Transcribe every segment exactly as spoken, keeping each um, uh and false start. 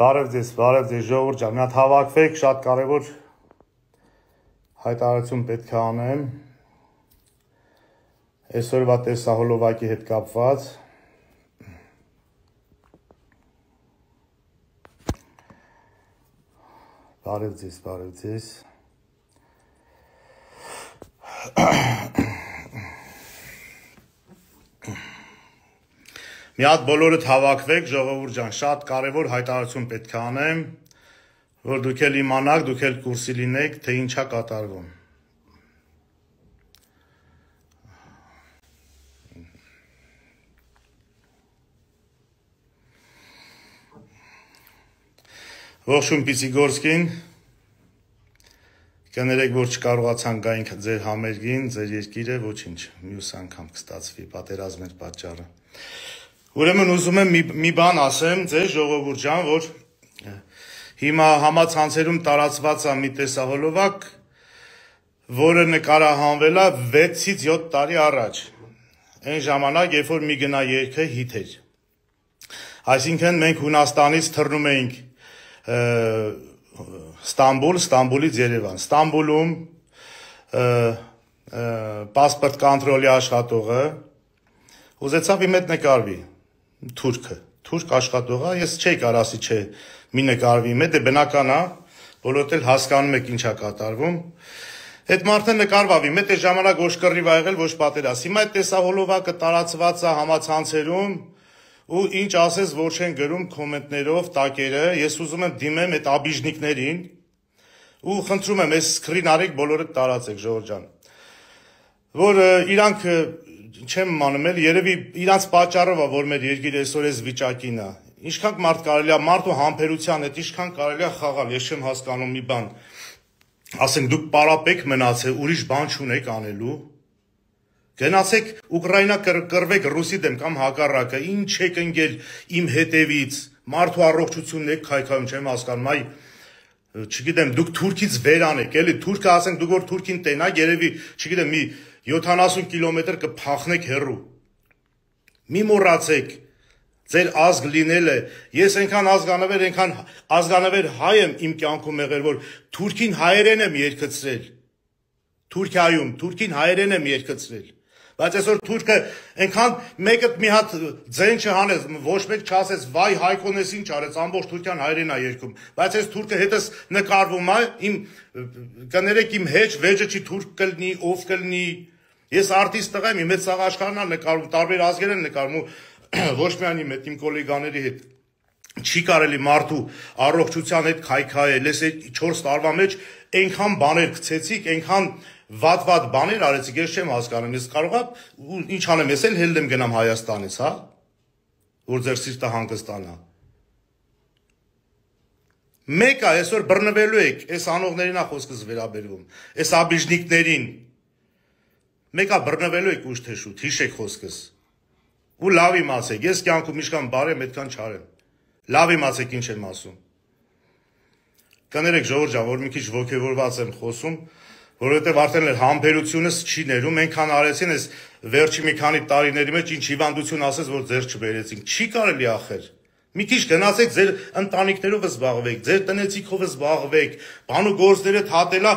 Բարև ձեզ, բարև ձեզ ժողովուրդ ջան, մի հատ հավաքվեք, շատ կարևոր հայտարարություն պետք է անեմ այսօրվա տեսահոլովակի հետ կապված։ Բարև ձեզ, բարև ձեզ։ Մի հատ բոլորդ հավաքվեք, ժողովուրդ ջան, շատ կարևոր հայտարարություն պետք է անեմ, որ դուք էլ իմանաք, դուք էլ կուրսի լինեք, թե ինչա կատարվում։ Ողջույն Պիսիգորսկին, կներեք, որ չկարողացան գայինք ձեր համերգին, ձեր երկիրը, ոչինչ, մյուս անգամ կստացվի, պատերազմներ պատճառը։ Ուրեմն ուզում եմ մի, մի բան ասեմ ձեր ժողովուրդ ջան, որ հիմա համացանցերում տարածված է մի տեսահոլովակ, որը նկարահանվել է վեցից յոթ տարի առաջ, այն ժամանակ, երբ որ մի գնա երգը հիթ էր։ Այսինքն մենք Հունաստանից թռնում էինք Ստամբուլ, Ստամբուլից Երևան։ Ստամբուլում պասպորտ կոնտրոլի աշխատողը ուզեցավ իմ հետ նկարվի, թուրքը, թուրք աշխատողը, ես չէի կարող ասի չէ, մի նկարվի իմ հետ, դե բնական է, բոլորդ էլ հասկանում եք ինչ է կատարվում։ Այդ մարդը նկարվավ իմ հետ, այդ ժամանակ ոչ կռիվ ա եղել, ոչ պատերազմ։ Հիմա այդ տեսահոլովակը տարածված է համացանցերում, ու ինչ ասես, որ չեն գրում կոմենտներով տակերը, ես ուզում եմ դիմեմ այդ աբիժնիկներին, ու խնդրում եմ, այս սկրին արեք բոլորը տարածեք, ժողովուրդ ջան, որ իրանք չեմ իմանում էլ, երևի իրանց պատճառով է, որ մեր երկիրը այսօր այս վիճակին է, ինչքան մարդ կարելի է, մարդու համբերության հետ, ինչքան կարելի է խաղալ, ես չեմ հասկանում մի բան, ասենք դուք պարապեք մնացեք, ուրիշ բան չունեք անելու, գնացեք Ուկրաինա կռվեք Ռուսի դեմ կամ հակառակը, ինչ եք ընկել իմ հետևից, մարդու առողջությունն եք քայքայում, չեմ հասկանում, այ չգիտեմ, դուք Թուրքից վերանեք, էլի Թուրքը ասենք դուք որ Թուրքին տենակ, երևի, չգիտեմ, մի յոթանասուն կիլոմետր կփախնեք հեռու։ Մի մոռացեք ձեր ազգ լինելը, ես այնքան ազգանվեր, այնքան ազգանվեր հայ եմ իմ կյանքում եղել, որ Թուրքին հայերեն եմ երգեցրել։ Թուրքիայում, Թուրքին հայերեն եմ երգեցրել։ Բայց այսօր Թուրքը այնքան մեկը մի հատ ձեն չհանես, ոչ մեկ չասես, վայ Հայկոնես ինչ արեց, ամբողջ Թուրքիան հայերեն է երգում։ Բայց այս Թուրքը հետս նկարվում է, իմ կներեք իմ հեչ վեճը չի թուրք կլինի, ով կլինի։ Ես արտիստ տղա եմ, իմ հետ սաղ աշխարհն է նկարվում, տարբեր ազգեր են նկարվում, ոչ միայն իմ հետ, իմ կոլեգաների հետ։ Չի կարելի մարդու առողջության հետ քայքայել, ես այդ չորս տարվա մեջ այնքան բաներ գցեցիք, այնքան վատ-վատ բաներ արեցիք, ես չեմ հասկանում, ես կարող եմ, ինչ անեմ, ես էլ հելել եմ գնամ Հայաստանից, հա, որ ձեր սիրտը հանգստանա։ Մեկ է, այսօր բռնվելու եք, այս անողներին է խոսքս վերաբերվում, այս աբիժնիկներին, մեկ է բռնվելու եք ուշ թե շուտ, հիշեք խոսքս, ու լավ իմացեք, ես կյանքում ինչքան բարեմ, այդքան չարեմ, լավ իմացեք ինչ եմ ասում։ Կներեք ժողովուրդ ջան, որ մի քիչ ոգևորված եմ խոսում, որովհետև արդեն էլ համբերությունս չի ներում, այնքան արեցին այս վերջի մի քանի տարիների մեջ ինչ հիվանդություն ասես, որ ձեր չբերեցին, չի կարելի ախր։ Մի քիչ գնացեք ձեր ընտանիքներով զբաղվեք, ձեր տնեցիքով զբաղվեք, բան ու գործերը թատելա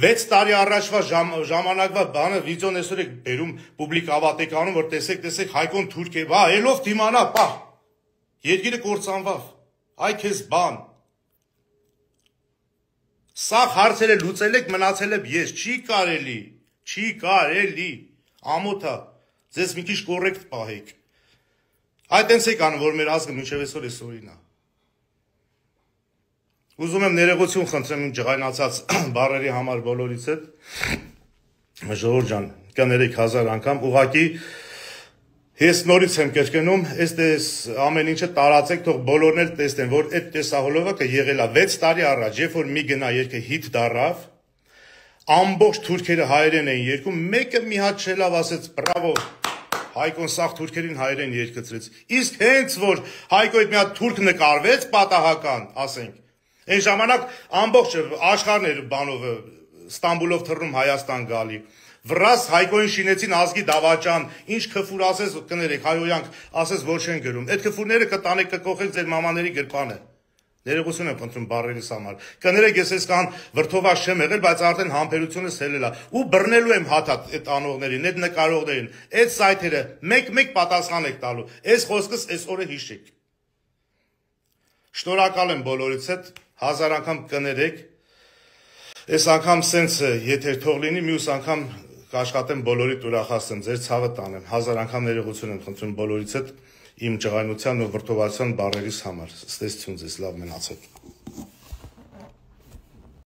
վեց տարի առաջվա ժամանակվա բանը վիդեոն այսօր եք բերում պուբլիկ ավատեք անում, որ տեսեք, տեսեք Հայկոն թուրք է, բա ելով դիմանա, պա։ Երկիրը կործանվավ, այ քեզ բան։ Սաղ հարցերը լուծել եք, մնացել եք ես, չի կարելի, չի կարելի, ամոթա, ձեզ մի քիչ կորեկտ պահեք։ Այդ այնց եք անում, որ մեր ազգը մինչև այսօր այսօրին է։ Ուզում եմ ներողություն խնդրեմ իմ ջղայնացած բառերի համար բոլորից հետ, ժողովուրդ ջան, կներեք հազար անգամ, ուղղակի ես նորից եմ կրկնում, այս ամեն ինչը տարածեք, թող բոլորն էլ տեսնեն, որ այդ տեսահոլովակը եղել է վեց տարի առաջ, երբ որ մի գնա երգը հիթ դառավ, ամբողջ թուրքերը հայերեն էին երգում, մեկը մի հատ չելավ ասեց, բրավո, Հայկոն սաղ թուրքերին հայերեն երգեցրեց, իսկ հենց որ Հայկո այդ մի հատ թուրք նկարվեց, պատահական, ասենք, այն ժամանակ ամբողջ աշխարհն էր բանով Ստամբուլով թռնում Հայաստան գալի, վրաս Հայկոին շինեցին ազգի դավաճան, ինչ քֆուր ասես կներեք, հայոյանք ասես որ չեն գրում, այդ քֆուրները կտանեք կկոխեք ձեր մամաների գրպանը, Ներողություն եմ խնդրում բառերիս համար։ Կներեք, ես այսքան վրդովաշ չեմ եղել, բայց արդեն համբերությունս հելել է։ Ու բռնելու եմ հաթաթ այդ անողներին, այդ նկարողներին, այդ սայթերը մեկ-մեկ պատասխան եք տալու։ Այս խոսքս այս օրը հիշեք։ Շնորհակալ եմ բոլորից հետ, հազար անգամ կներեք։ Այս անգամ սենց եթեր թող լինի, մյուս անգամ կաշխատեմ բոլորիդ ուրախացնեմ, ձեր ցավը տանեմ։ Հազար անգամ ներողություն եմ խնդրում բոլորից հետ իմ ջղայնության ու վրդովացության բառերիս համար։ Ստեսություն ձեզ, լավ մնացեք։